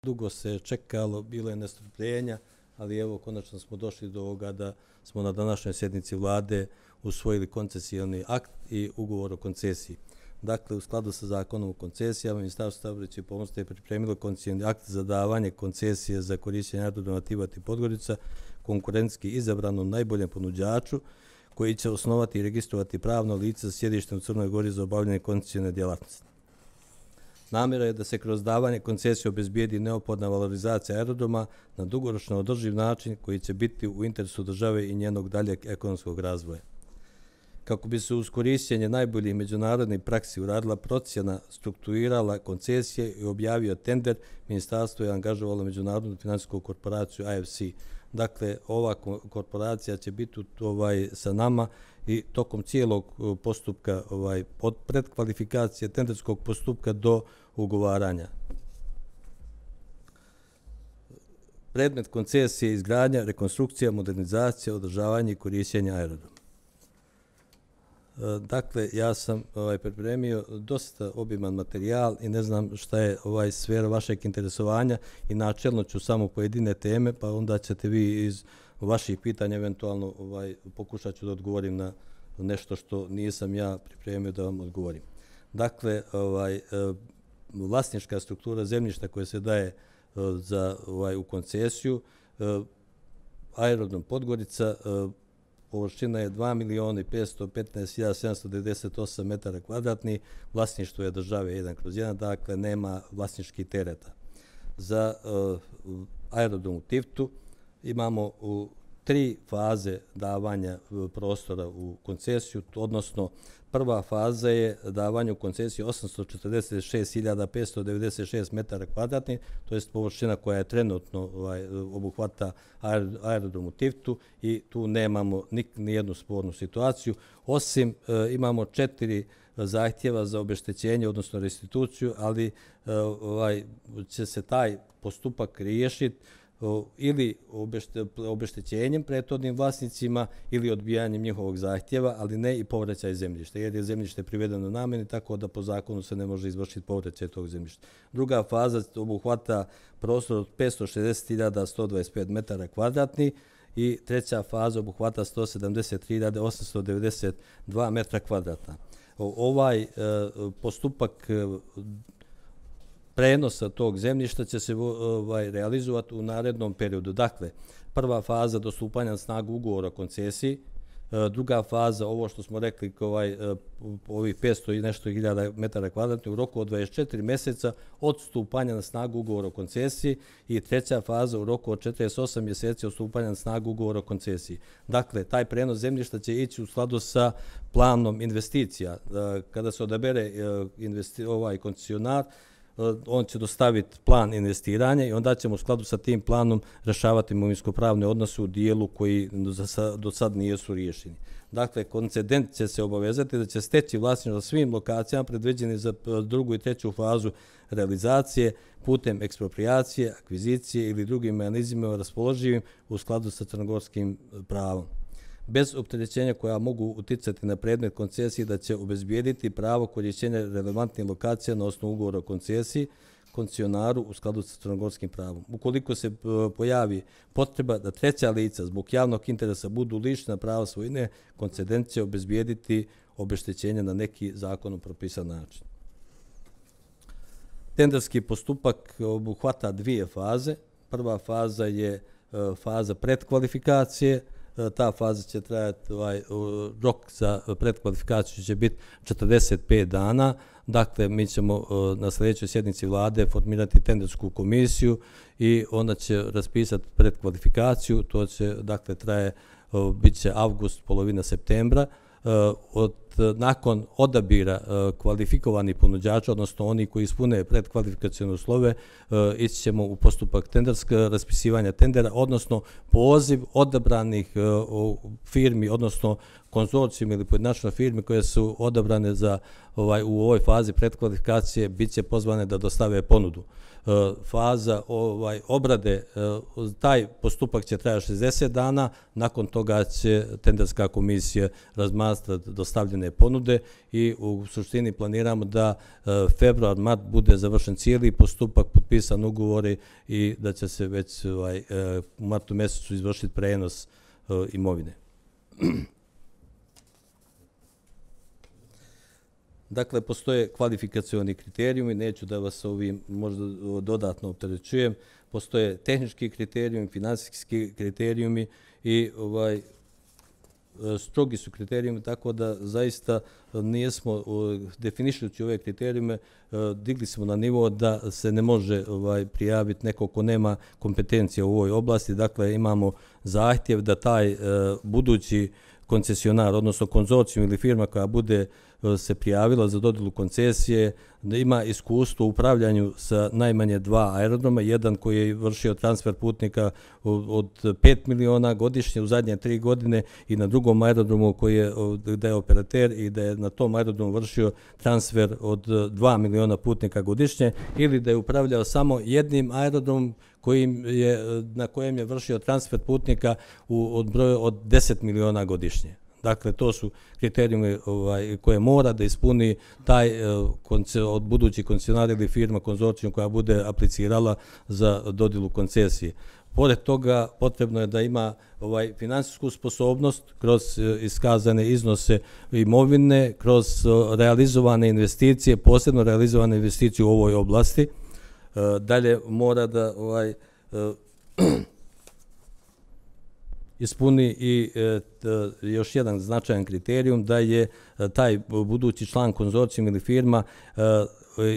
Dugo se čekalo, bilo je nestrpljenja, ali evo konačno smo došli do ovoga da smo na današnjoj sjednici vlade usvojili koncesioni akt i ugovor o koncesiji. Dakle, u skladu sa zakonom o koncesijama, Ministarstvo saobraćaja i pomorstva je pripremilo koncesioni akt za davanje koncesije za korišćenje aerodroma Tivat i Podgorica konkurentski izabranom najboljem ponuđaču koji će osnovati i registrovati pravno lice sa sjedištem u Crnoj Gori za obavljanje koncesione djelatnosti. Namjera je da se kroz davanje koncesije obezbijedi neophodna valorizacija aerodroma na dugoročno održiv način koji će biti u interesu države i njenog daljeg ekonomskog razvoja. Kako bi se uz korišćenje najboljih međunarodnih praksi uradila procjena, strukturirala koncesije i objavio tender, ministarstvo je angažovalo međunarodnu financijsku korporaciju AFC. Dakle, ova korporacija će biti sa nama i tokom cijelog postupka od predkvalifikacije tenderskog postupka do ugovaranja. Predmet koncesije je izgradnja, rekonstrukcija, modernizacija, održavanje i korišćenje aerodroma. Dakle, ja sam pripremio dosta obiman materijal i ne znam šta je sfera vašeg interesovanja i načelno ću samo pojedine teme, pa onda ćete vi iz vaših pitanja eventualno pokušat ću da odgovorim na nešto što nisam ja pripremio da vam odgovorim. Dakle, vlasnička struktura zemljišta koje se daje u koncesiju, aerodrom Podgorica, površina je 2.515.798 metara kvadratnih, vlasništvo je države 1/1, dakle nema vlasničkih tereta. Za aerodrom u Tivtu imamo 3 faze davanja prostora u koncesiju, odnosno prva faza je davanje u koncesiju 846.596 metara kvadratnih, to je površina koja je trenutno obuhvata aerodrom u Tivtu i tu nemamo nijednu spornu situaciju, osim imamo 4 zahtjeva za obeštećenje, odnosno restituciju, ali će se taj postupak riješiti ili obeštećenjem prethodnim vlasnicima ili odbijanjem njihovog zahtjeva, ali ne i povraćaj zemljišta, jer je zemljište privedeno namjeni, tako da po zakonu se ne može izvršiti povraćaj tog zemljišta. Druga faza obuhvata prostor od 560.125 metara kvadratnih i treća faza obuhvata 173.892 metra kvadratna. Ovaj postupak prenosa tog zemljišta će se realizovati u narednom periodu. Dakle, prva faza do stupanja na snagu ugovora o koncesiji, druga faza, ovo što smo rekli, ovih 500 i nešto hiljada metara kvadratnih u roku od 24 mjeseca od stupanja na snagu ugovora o koncesiji i treća faza u roku od 48 mjeseci od stupanja na snagu ugovora o koncesiji. Dakle, taj prenos zemljišta će ići u skladu sa planom investicija. Kada se odabere koncesionar, on će dostaviti plan investiranja i onda ćemo u skladu sa tim planom rješavati imovinsko-pravne odnose u dijelu koji do sad nisu riješeni. Dakle, koncedent će se obavezati da će steći vlasništvo na svim lokacijama predviđeni za drugu i treću fazu realizacije putem eksproprijacije, akvizicije ili drugim mehanizmima raspoloživim u skladu sa crnogorskim pravom, bez opterećenja koja mogu uticati na predmet koncesije da će obezbijediti pravo korišćenja relevantnih lokacija na osnovu ugovora o koncesiji koncesionaru u skladu sa crnogorskim pravom. Ukoliko se pojavi potreba da treća lica zbog javnog interesa budu lišena prava svojine, koncedent će obezbijediti obeštećenje na neki zakonom propisan način. Tenderski postupak obuhvata 2 faze. Prva faza je faza predkvalifikacije. Ta faza će trajati, rok za predkvalifikaciju će biti 45 dana. Dakle, mi ćemo na sljedećoj sjednici vlade formirati tendersku komisiju i ona će raspisati predkvalifikaciju. To će, dakle, bit će avgust, polovina septembra. Nakon odabira kvalifikovanih ponuđača, odnosno oni koji ispune predkvalifikacione uslove, ići ćemo u postupak raspisivanja tendera, odnosno poziv odabranih firmi, odnosno konzorcijum ili pojedinačne firme koje su odabrane u ovoj fazi predkvalifikacije, bit će pozvane da dostave ponudu. faza obrade, taj postupak će trajati 60 dana, nakon toga će tenderska komisija razmatrati dostavljene ponude i u suštini planiramo da februar, mart bude završen cijeli postupak, potpisan ugovori i da će se već u martu mjesecu izvršiti prenos imovine. Dakle, postoje kvalifikacioni kriterijumi, neću da vas ovim možda dodatno opterećujem, postoje tehnički kriterijumi, finansijski kriterijumi i strogi su kriterijumi, tako da zaista nijesmo definišujući ove kriterijume, digli smo na nivo da se ne može prijaviti neko ko nema kompetencije u ovoj oblasti. Dakle, imamo zahtjev da taj budući koncesionar, odnosno konzorcijum ili firma koja bude se prijavila za dodjelu koncesije, da ima iskustvo u upravljanju sa najmanje 2 aerodroma, jedan koji je vršio transfer putnika od 5 miliona godišnje u zadnje 3 godine i na drugom aerodromu da je operater i da je na tom aerodromu vršio transfer od 2 miliona putnika godišnje ili da je upravljao samo jednim aerodromom na kojem je vršio transfer putnika od broja od 10 miliona godišnje. Dakle, to su kriterijumi koje mora da ispuni taj od budući koncesionar ili firma konzorcijum koja bude aplicirala za dodjelu koncesije. Pored toga, potrebno je da ima finansijsku sposobnost kroz iskazane iznose imovine, kroz realizovane investicije, posebno realizovane investicije u ovoj oblasti. Dalje mora da ispuni i još jedan značajan kriterijum da je taj budući član konzorcijum ili firma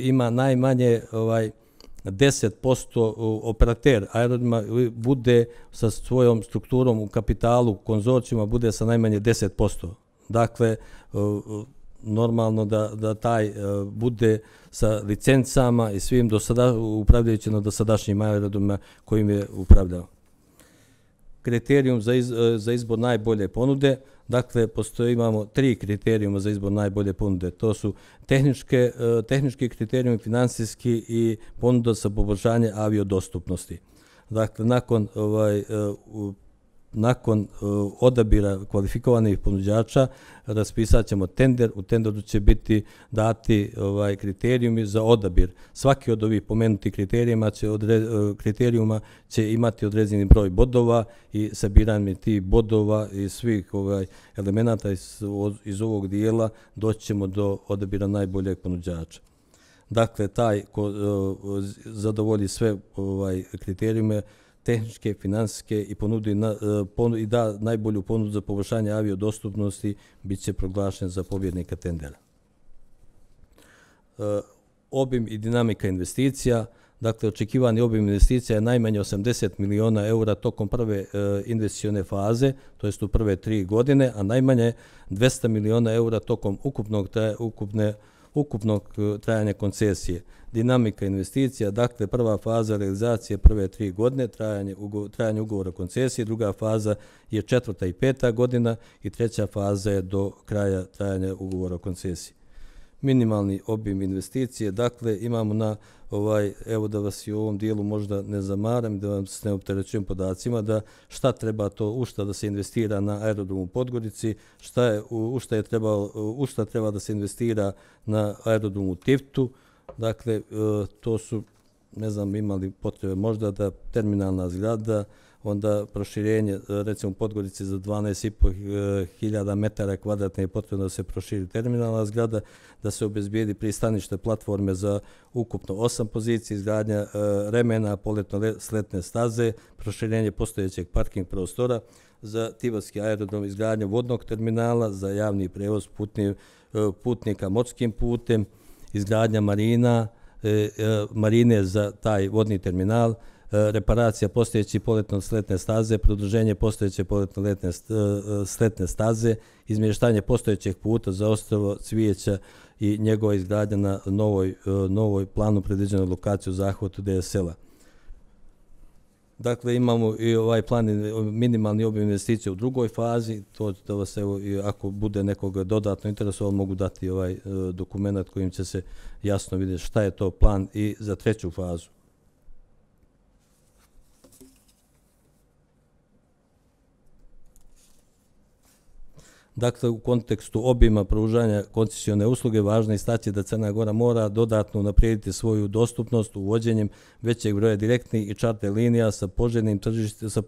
ima najmanje 10% operater aerodroma bude sa svojom strukturom u kapitalu konzorcijuma bude sa najmanje 10%. Dakle, normalno da taj bude sa licencama i svim upravljajući na dosadašnjim aerodromima kojim je upravljao. Kriterijum za izbor najbolje ponude, dakle, imamo 3 kriterijuma za izbor najbolje ponude. To su tehnički kriterijumi, finansijski i ponuda za poboljšanje aviodostupnosti. Dakle, nakon odabira kvalifikovanih ponuđača raspisat ćemo tender. U tenderu će biti dati kriterijumi za odabir. Svaki od ovih pomenutih kriterijuma će imati određeni broj bodova i sabiranje tih bodova i svih elemenata iz ovog dijela doći ćemo do odabira najboljeg ponuđača. Dakle, taj ko zadovolji sve kriterijume tehničke, finansijske i da najbolju ponudu za poboljšanje aviodostupnosti bit će proglašen za pobjednika tendera. Obim i dinamika investicija, dakle očekivani obim investicija je najmanje 80 miliona eura tokom prve investicione faze, to jest u prve 3 godine, a najmanje 200 miliona eura tokom ukupnog trajanja koncesije. Dinamika investicija, dakle prva faza realizacije prve 3 godine, trajanje ugovora koncesije, druga faza je 4. i 5. godina i treća faza je do kraja trajanja ugovora koncesije. Minimalni obim investicije, dakle imamo evo da vas i u ovom dijelu možda ne zamaram, da vam se ne opterećujem podacima, da šta treba u šta da se investira na aerodromu u Podgorici, u šta treba da se investira na aerodromu u Tivtu, dakle to su, ne znam, imali potrebe možda da terminalna zgrada, onda proširenje, recimo u Podgorici za 12.500 metara kvadratne je potrebno da se proširi terminalna zgrada, da se obezbijedi pristanište platforme za ukupno 8 pozicija, izgradnja remena, poletno-sletne staze, proširenje postojećeg parking prostora, za Tivatski aerodrom izgradnja vodnog terminala, za javni prevoz putnika morskim putem, izgradnja marine za taj vodni terminal, reparacija postojeće poletno-sletne staze, produženje postojeće poletno-sletne staze, izmještanje postojećeg puta za ostrvo Cvijeća i njegova izgradnja na novoj planu predviđenoj lokaciju zahvatu DSL-a. Dakle, imamo i ovaj plan minimalni obim investicija u drugoj fazi, to da vas ako bude nekog dodatno interesovalo mogu dati ovaj dokument kojim će se jasno vidjeti šta je to plan i za treću fazu. Dakle, u kontekstu obima pružanja koncesione usluge važno je istaći da Crna Gora mora dodatno unaprijediti svoju dostupnost uvođenjem većeg broja direktnih i čarter linija sa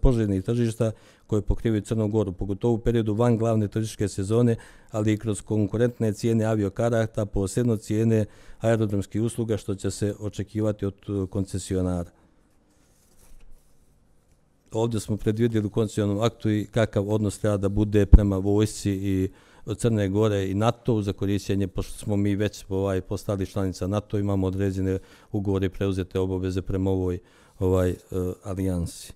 poželjnih tržišta koje pokrivaju Crnu Goru, pogotovo u periodu van glavne turističke sezone, ali i kroz konkurentne cijene aviokarata, posebno cijene aerodromskih usluga, što će se očekivati od koncesionara. Ovdje smo predvidjeli u koncesionom aktu i kakav odnos treba da bude prema vojsci i Crne Gore i NATO za korištenje, pošto smo mi već postali članica NATO, imamo određene ugovore i preuzete obaveze prema ovoj alijansi.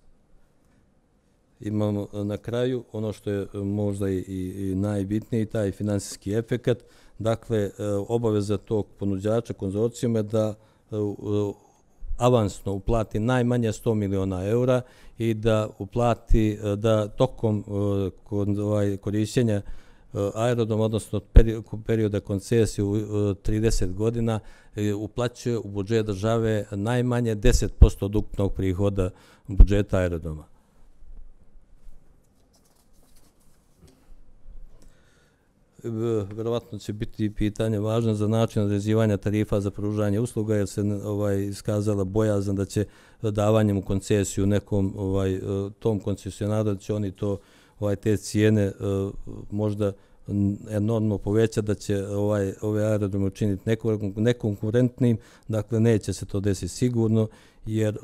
Imamo na kraju ono što je možda i najbitniji, taj finansijski efekat. Dakle, obaveza tog ponuđača konzorcijuma je da avansno uplati najmanje 100 miliona eura i da uplati da tokom korištenja aerodroma, odnosno perioda koncesije 30 godina, uplaćuje u budžet države najmanje 10% od ukupnog prihoda budžeta aerodroma. Verovatno će biti pitanje važno za način određivanja tarifa za pružanje usluga, jer se iskazala bojazan da će davanjem u koncesiju nekom tom koncesionaru da će oni te cijene možda enormno povećati, da će ove aerodrome učiniti nekonkurentnim. Dakle, neće se to desiti sigurno, jer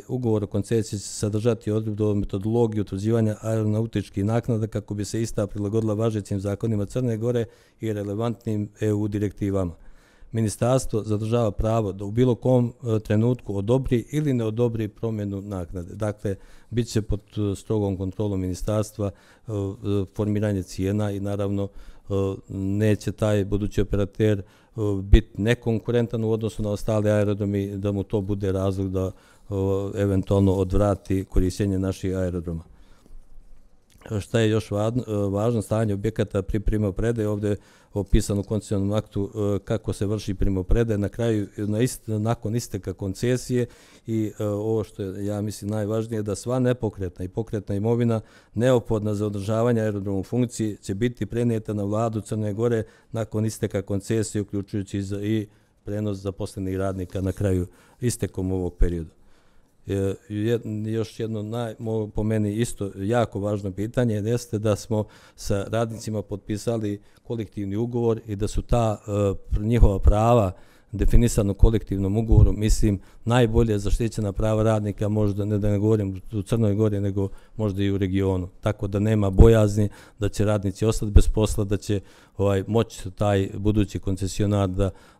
ugovor o koncesiji će sadržati odredbu o metodologiji utvrđivanja aeronautičkih naknada kako bi se ista prilagodila važećim zakonima Crne Gore i relevantnim EU direktivama. Ministarstvo zadržava pravo da u bilo kom trenutku odobri ili ne odobri promjenu naknade. Dakle, bit će pod strogom kontrolom ministarstva formiranje cijena i naravno neće taj budući operater biti nekonkurentan u odnosu na ostale aerodromi, da mu to bude razlog da eventualno odvrati korištenje naših aerodroma. Šta je još važno? Stanje objekata pri primopredaji. Ovdje je opisano u koncesionom aktu kako se vrši primopredaja na kraju, nakon isteka koncesije, i ovo što je, ja mislim, najvažnije, da sva nepokretna i pokretna imovina neophodna za održavanje aerodroma u funkciji će biti prenijeta na vladu Crne Gore nakon isteka koncesije, uključujući i prenos zaposlenih radnika na kraju istekom ovog perioda. Još jedno po meni isto jako važno pitanje jeste da smo sa radnicima potpisali kolektivni ugovor i da su ta njihova prava definisano kolektivnom ugovoru, mislim, najbolje zaštićena prava radnika, možda ne da ne govorim u Crnoj Gori, nego možda i u regionu. Tako da nema bojazni da će radnici ostati bez posla, da će moći taj budući koncesionar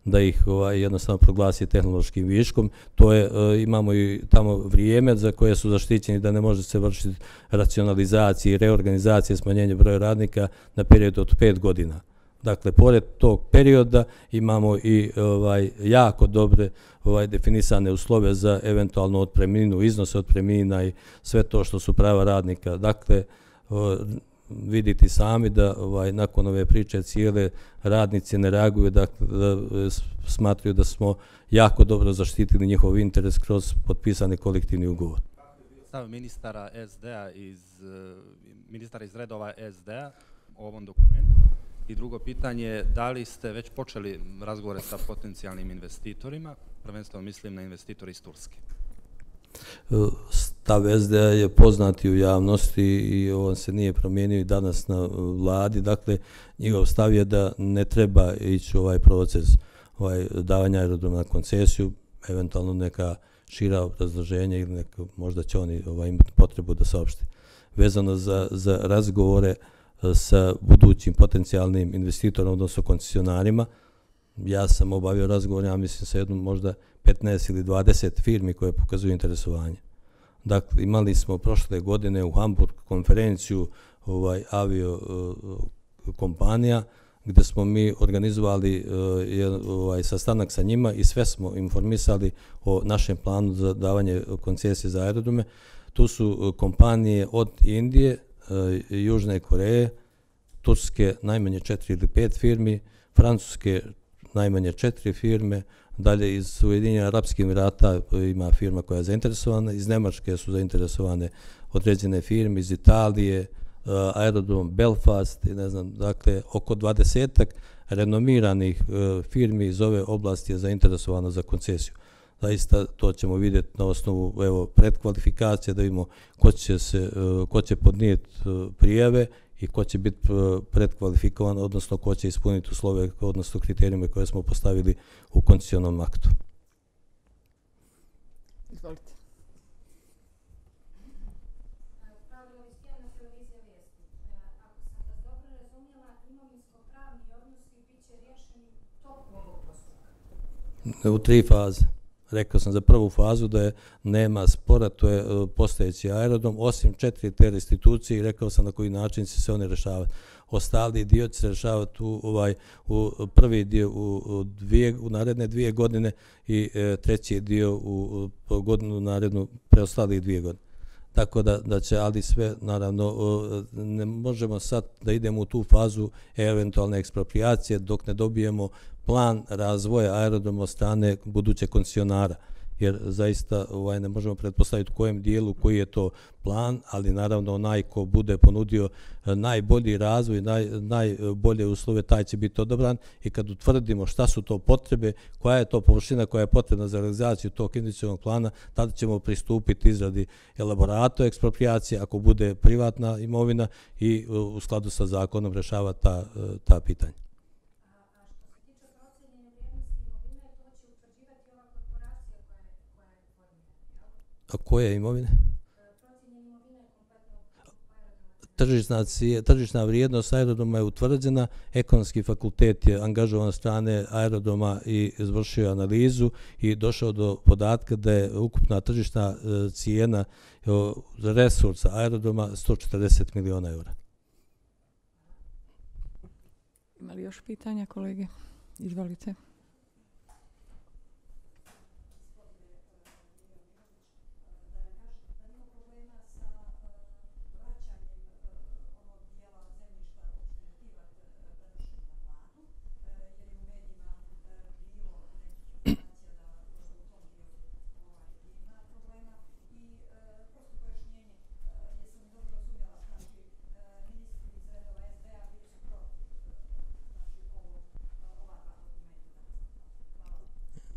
da ih jednostavno proglasi tehnološkim viškom. To je, imamo i tamo vrijeme za koje su zaštićeni da ne može se vršiti racionalizacije i reorganizacije, smanjenje broja radnika na period od 5 godina. Dakle, pored tog perioda imamo i jako dobre definisane uslove za eventualno otpremninu, iznose otpremnina i sve to što su prava radnika. Dakle, vidite sami da nakon ove priče cijele radnici ne reaguju, da smatruju da smo jako dobro zaštitili njihov interes kroz potpisani kolektivni ugovor. Stav ministara iz redova SD-a o ovom dokumentu? I drugo pitanje, da li ste već počeli razgovore sa potencijalnim investitorima, prvenstveno mislim na investitori iz Turske? Stav SDA je poznati u javnosti i on se nije promijenio i danas na vladi. Dakle, njegov stav je da ne treba ići u ovaj proces davanja aerodroma na koncesiju, eventualno neka šira obrazloženja ili možda će oni imati potrebu da saopšte. Vezano za razgovore sa budućim potencijalnim investitorom, odnosno koncesionarima, ja sam obavio razgovor, ja mislim, sa jednom možda 15 ili 20 firmi koje pokazuju interesovanje. Dakle, imali smo prošle godine u Hamburg konferenciju avio kompanija, gdje smo mi organizovali sastanak sa njima i sve smo informisali o našem planu za davanje koncesije za aerodrome. Tu su kompanije od Indije, Južne Koreje, Turske najmanje 4 ili 5 firmi, Francuske najmanje 4 firme, dalje iz Ujedinjenih Arapskih Emirata ima firma koja je zainteresovana, iz Nemačke su zainteresovane određene firme, iz Italije, aerodrom Belfast i ne znam, dakle oko 20 renomiranih firmi iz ove oblasti je zainteresovano za koncesiju. Zaista to ćemo vidjeti na osnovu predkvalifikacije da vidimo ko će podnijeti prijave i ko će biti predkvalifikovan, odnosno ko će ispuniti uslove, odnosno kriterijume koje smo postavili u koncesionom aktu. Izvolite. U 3 faze. Rekao sam za prvu fazu da nema spora, to je postojeći aerodrom, osim 4 te restitucije i rekao sam na koji način će se one rješavati. Ostali dio će se rješavati u prvi dio u naredne 2 godine i treći dio u godinu narednu preostalih 2 godine. Tako da će, ali sve, naravno, ne možemo sad da idemo u tu fazu eventualne ekspropriacije dok ne dobijemo plan razvoja aerodroma od strane budućeg koncesionara, jer zaista ne možemo pretpostaviti u kojem dijelu koji je to plan, ali naravno onaj ko bude ponudio najbolji razvoj, najbolje uslove, taj će biti odabran i kad utvrdimo šta su to potrebe, koja je to površina koja je potrebna za realizaciju tog investicionog plana, tada ćemo pristupiti izradi elaborata ekspropriacije ako bude privatna imovina i u skladu sa zakonom rješava ta pitanja. A koje imovine? Tržišna vrijednost aerodroma je utvrđena, ekonomski fakultet je angažovan od strane aerodroma i izvršio analizu i došao do podatka da je ukupna tržišna cijena resursa aerodroma 140 miliona eura. Ima li još pitanja, kolege? Izvolite.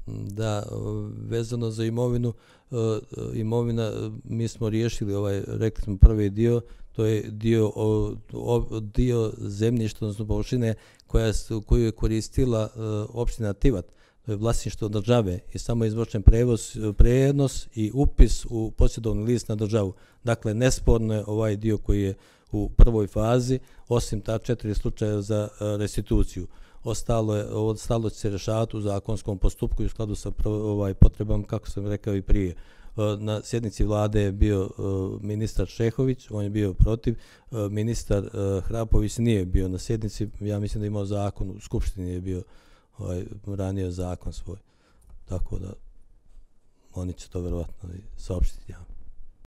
Da, vezano za imovina, mi smo riješili rekli smo prvi dio, to je dio zemljišta, odnosno površine koju je koristila opština Tivat, to je vlasništvo države i samo je izvršen prenos i upis u posjedovni list na državu. Dakle, nesporno je ovaj dio koji je u prvoj fazi, osim ta 4 slučaja za restituciju. Ostalo će se rješavati u zakonskom postupku i u skladu sa potrebama, kako sam rekao i prije. Na sjednici vlade je bio ministar Šehović, on je bio protiv, ministar Hrapović nije bio na sjednici, ja mislim da je imao zakon, u Skupštini je bio ranije zakon svoj. Tako da oni će to verovatno saopštiti.